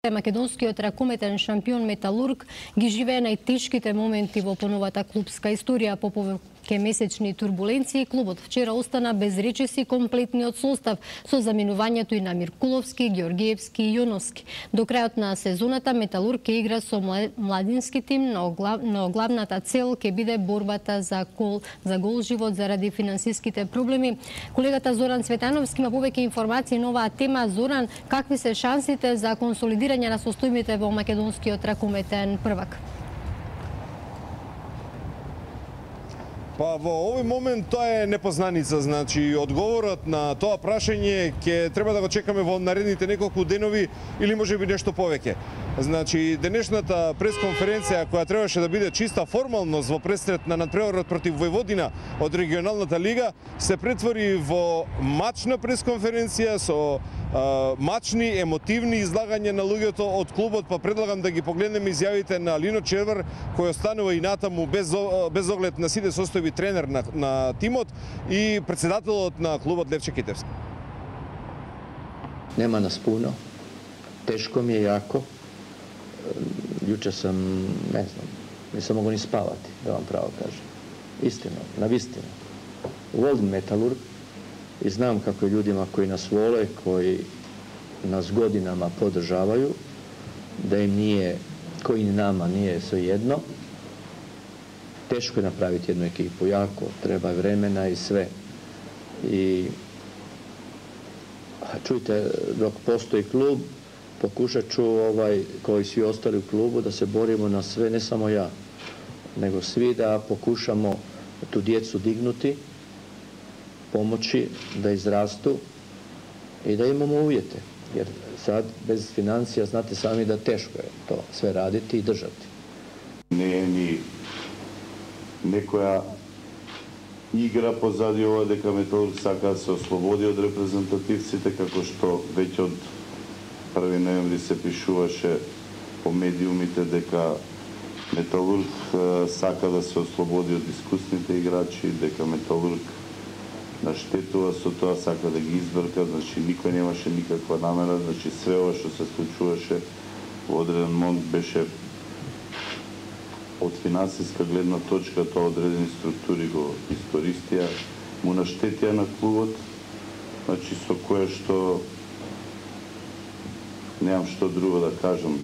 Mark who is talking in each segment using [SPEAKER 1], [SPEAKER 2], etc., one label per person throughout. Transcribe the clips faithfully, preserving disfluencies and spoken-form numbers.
[SPEAKER 1] Македонскиот ракометен шампион Металург ги живее најтешките моменти во поновата клубска историја. По повеќе месечни турбуленции, клубот вчера остана без речиси комплетниот состав, со заминувањето и на Миркуловски, Георгиевски и Јоновски. До крајот на сезоната Металург ќе игра со младински тим, но, глав, но главната цел ќе биде борбата за гол, за гол живот заради финансиските проблеми. Колегата Зоран Цветановски има повеќе информации на оваа тема. Зоран, какви се шансите за консолидирање на состојбите во македонскиот ракометен првак?
[SPEAKER 2] Па во овој момент тоа е непознаница, значи одговорот на тоа прашање ќе треба да го чекаме во наредните неколку денови или можеби нешто повеќе. Значи денешната пресконференција која требаше да биде чиста формалност во пресрет на надпреварот против Војводина од регионалната лига се претвори во мачна пресконференција со а, мачни, емотивни излагања на луѓето од клубот, па предлагам да ги погледнеме изјавите на Лино Червар, кој останува и натаму без, без оглед на сите состојби тренер на, на тимот и председателот на клубот Левче Китевски.
[SPEAKER 3] Нема нас пуно, тешко ми е јако. Јуче сам, не знам, не сам могу ни спавати, да вам право кажем. Истина, на вистина. Волим Металург и знам како људима кои нас воле, кои нас годинама подржавају, да им nije, кои нама nije svejedno. Teško je napraviti jednu ekipu, jako, treba vremena i sve. I čujte, dok postoji klub, pokušat ću, ovaj, kao i svi ostali u klubu, da se borimo na sve, ne samo ja, nego svi da pokušamo tu djecu dignuti, pomoći da izrastu i da imamo uvjete. Jer sad bez financija znate sami da teško je to sve raditi i držati.
[SPEAKER 4] Не е ни некоја игра позади ова дека Металург сака да се ослободи од репрезентативците, како што веќе од први ноември се пишуваше по медиумите дека Металург сака да се ослободи од искусните играчи, дека Металург наштетува со тоа, сака да ги избрка, значи никој немаше никаква намера, значи све ова што се случуваше во одреден момент беше од финансиска гледна точка, тоа одредени структури го истористија, му наштетија на клубот, значи со кое што немам што друго да кажам.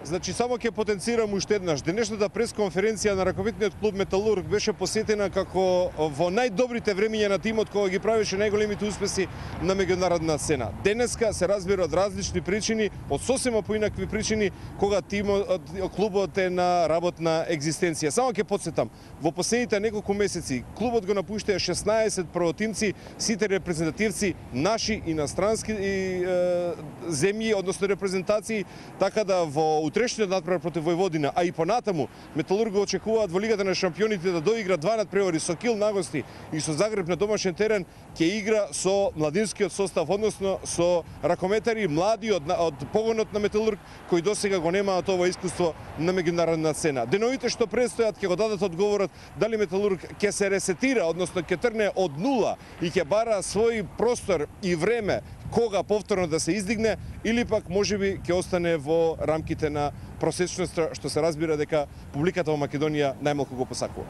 [SPEAKER 2] Значи, само ќе потенцирам уште еднаш. Денешната пресконференција на ракометниот клуб Металург беше посетена како во најдобрите времиња на тимот кога ги правеше најголемите успеси на меѓународна сцена. Денеска се разбира од различни причини, од сосема поинакви причини, кога тимот, клубот е на работна екзистенција. Само ќе потсетам, во последните неколку месеци клубот го напуштија шеснаесет првотимци, сите репрезентативци наши инострански и, е, земји, односно репрезентации, така да во утрешниот надпревар против Војводина, а и понатаму Металург го очекуваат во Лигата на шампионите да доигра два надпревари со Кил на гости и со Загреб на домашен терен, ќе игра со младинскиот состав, односно со ракометари млади од, од погонот на Металург, кои досега го немаат ова искуство на меѓународна сцена. Деновите што предстојат ќе го дадат одговорот дали Металург ќе се ресетира, односно ќе тргне од нула и ќе бара свој простор и време кога повторно да се издигне, или пак можеби ќе остане во рамките на просечноста, што се разбира дека публиката во Македонија најмалку го посакува.